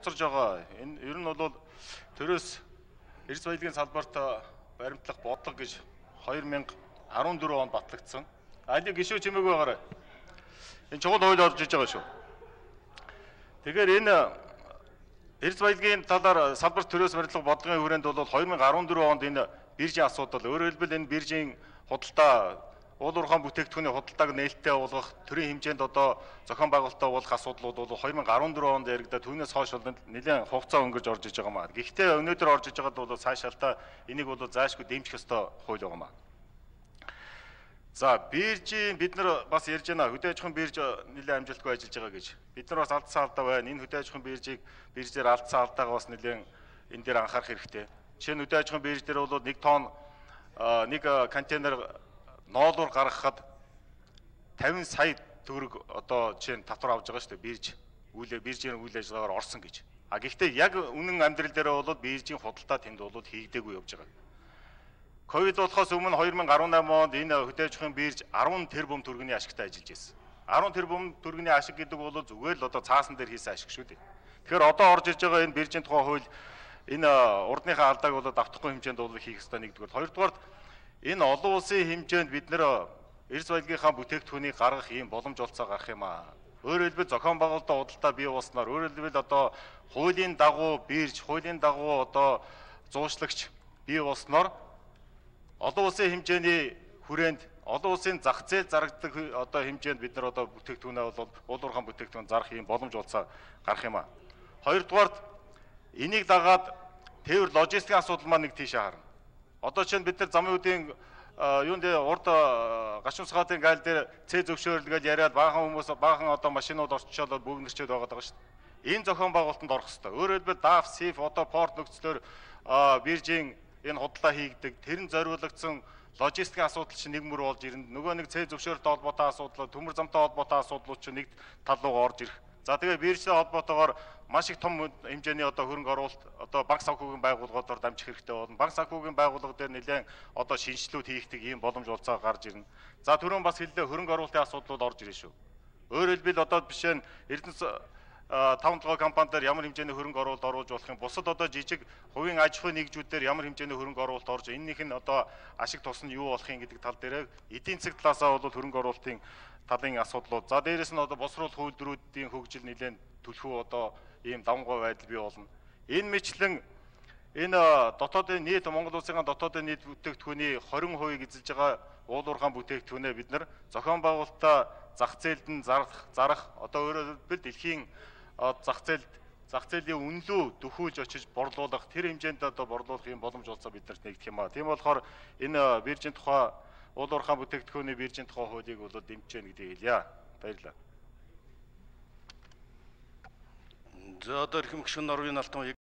Царж байгаа. Энэ ер нь бол төрөөс эрс баялагын салбарт баримтлах бодлого гэж 2014 онд батлагдсан. Алийг гişүү чимээг байгаарай. Энэ чухал хууль орж иж байгаа шүү. Тэгэхээр энэ эрс баялагын талаар салбарт төрөөс баримтлах бодлогын хүрээнд бол 2014 онд энэ биржийн асуудал, өөрөөр хэлбэл энэ биржийн худалдаа уул уурхайн бүтээгдэхүүний худалдааг нээлттэй болгох төрийн хэмжээнд одоо зохион байгуулалтаа болгох асуудлууд бол 2014 онд яригдаад түүнээс хойш бол нэлээд хугацаа өнгөрч орж иж байгаа маа. Гэхдээ өнөөдөр орж иж байгаад бол цаашаалтаа энийг бол заашгүй дэмжих ёстой хууль байгаа маа. За биржийн бид нар бас ярьж байна. Хөдөө аж ахуйн бирж нэлээд амжилтгүй ажиллаж байгаа гэж. Бид нар бас алдсан алдаа байна. Энэ хөдөө аж ахуйн биржээр алдсан алдаагаа бас нэлээд энэ дээр анхаарах хэрэгтэй. Жишээ нь хөдөө аж ахуйн бирж дээр бол 1 тонн нэг контейнер ноолуур гаргахад 50 сая төгрөг одоо жишээ нь татвар авж байгаа шүү дээ. Биржийн үйл ажиллагаагаар орсон гэж. А гэхдээ яг үнэн амьдрал дээр бол биржийн худалдаа тэнд бол хийгдээгүй явж байгаа. Ковид болохоос өмнө 2018 онд энэ хөдөө аж ахуйн бирж 10 тэрбум төгрөгийн ашигтай ажиллаж байсан. 10 тэрбум төгрөгийн ашиг гэдэг бол зүгээр л одоо цаасан дээр хийсэн ашиг шүү дээ. Тэгэхээр одоо орж ирж байгаа энэ биржийн тухай хууль энэ урдныхаа алдааг бол давтахгүй хэмжээнд бол хийх ёстой нэгдүгээр. Хоёрдугаар энэ олон улсын хэмжээнд бид нэр эрс баялагынхаа бүтээгдэхүүнийг гаргах ийм боломж олцоо гарах юм аа. Өөрөөр хэлбэл зохион байгуулалтаа худалдаа бий болсноор өөрөөр хэлбэл одоо хуулийн дагуу бирж, хуулийн дагуу одоо зуучлагч бий болсноор олон улсын хэмжээний хүрээнд олон улсын зах зээл зарагддаг одоо хэмжээнд бид нар одоо бүтээгдэхүүнээ бол уул уурхайн бүтээгдэхүүн зарах ийм боломж олцоо гарах юм аа. Хоёрдугаарт энийг дагаад тээвэр логистикийн асуудал маань нэг тийшээ харна. Одоо чинь бид нар замын үеийн юунд урд гашуун сгаатын гайл дээр цээ зөвшөөрөл гэж яриад баахан хүмүүс баахан одоо машинууд орчичоод бөөгнөрчөөд байгаа даа шүү дээ. Энэ зохион байгуулалтанд орох хэрэгтэй. Өөрөөр хэлбэл DAF, SIF одоо порт нөхцлөөр биржийн энэ худалдаа хийгдэг тэрэн зориулагдсан логистикийн асуудал чинь нэг мөр болж ирнэ. Нөгөө нэг цээ зөвшөөрөлтэй холбоотой асуудал, төмөр замтай холбоотой асуудлууд чинь нэг тал руу орж ирэх. За тэгээ биржтэй холбоотойгоор маш их том хэмжээний одоо хөрөнгө оруулалт одоо банк санхүүгийн байгууллагуудаар дамжих хэрэгтэй болно. Банк санхүүгийн байгууллага дээр нэлээд одоо шинжилүүд хийгдэг ийм боломж олцоо гарч ирнэ. За түрүүн бас хэллээ хөрөнгө оруулалтын асуудлууд орж ирнэ шүү. Өөрөөр хэлбэл одоо жишээ нь Эрдэнэс 5 компани дээр ямар хэмжээний хөрөнгө оруулалт оруулж болох юм. Бусад одоо жижиг хувийн аж ахуйн нэгжүүд дээр ямар хэмжээний хөрөнгө оруулалт орж энэнийх нь одоо ашиг тус нь юу болох юм гэдэг тал дээр эдийн засаг талаасаа бол хөрөнгө оруулалтын талын асуудлууд. За дээрэс нь одоо босруулах үйлдвэрүүдийн хөгжил нэлээд түлхүү одоо ийм давмгай байдал бий болно. Энэ мэтлэн энэ дотоодын нийт Монгол улсын дотоодын нийт бүтээгдэхүүний 20% эзэлж байгаа уул уурхайн бүтээгдэхүүнээ бид нар зохион байгуулалтаа зах зээлд нь зарах одоо өөрөөр хэлбэл дэлхийн зах зээлийн үнэлүү дөхүүлж очиж борлуулах тэр хэмжээнд одоо борлуулах юм боломж олцоо биднэрт нэгдэх юм аа. Тийм болохоор энэ биржийн тухай уул уурхайн бүтээгдэхүүний биржийн тухай хуулийг бол дэмжиж гэнэ гэдгийг хэлье. Баярлалаа. За одоо эрхэм гишүүн Норвын Алтан